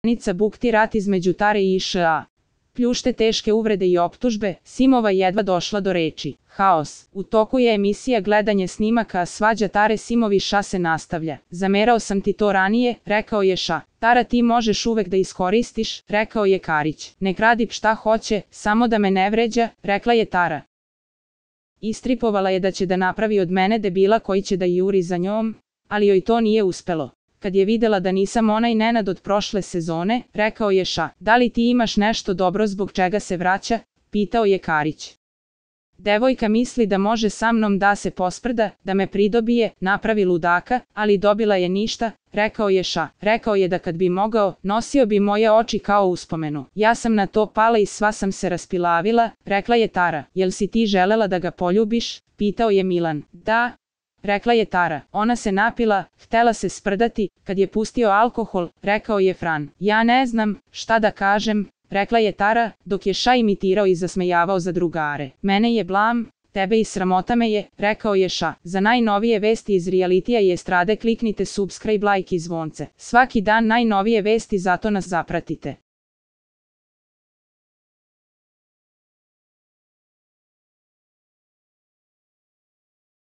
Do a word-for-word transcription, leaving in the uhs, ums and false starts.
Danica bukti rat između Tare i Š.A. Pljušte teške uvrede i optužbe, Simova jedva došla do reči. Haos. U toku je emisija gledanje snimaka, a svađa Tare Simov i Ša se nastavlja. Zamerao sam ti to ranije, rekao je Ša. Tara, ti možeš uvek da iskoristiš, rekao je Karić. Nek radi šta hoće, samo da me ne vređa, rekla je Tara. Istripovala je da će da napravi od mene debila koji će da juri za njom, ali joj to nije uspelo. Kad je videla da nisam onaj Nenad od prošle sezone, rekao je Ša. Da li ti imaš nešto dobro zbog čega se vraća? Pitao je Karić. Devojka misli da može sa mnom da se posprda, da me pridobije, napravi ludaka, ali dobila je ništa, rekao je Ša. Rekao je da kad bi mogao, nosio bi moje oči kao uspomenu. Ja sam na to pala i sva sam se raspilavila, rekla je Tara. Jel si ti želela da ga poljubiš? Pitao je Milan. Da, rekla je Tara. Ona se napila, htela se sprdati, kad je pustio alkohol, rekao je Fran. Ja ne znam šta da kažem, rekla je Tara, dok je Ša imitirao i zasmejavao za drugare. Mene je blam, tebe i sramota me je, rekao je Ša. Za najnovije vesti iz realitija i estrade kliknite subscribe, like i zvonce. Svaki dan najnovije vesti, zato nas zapratite.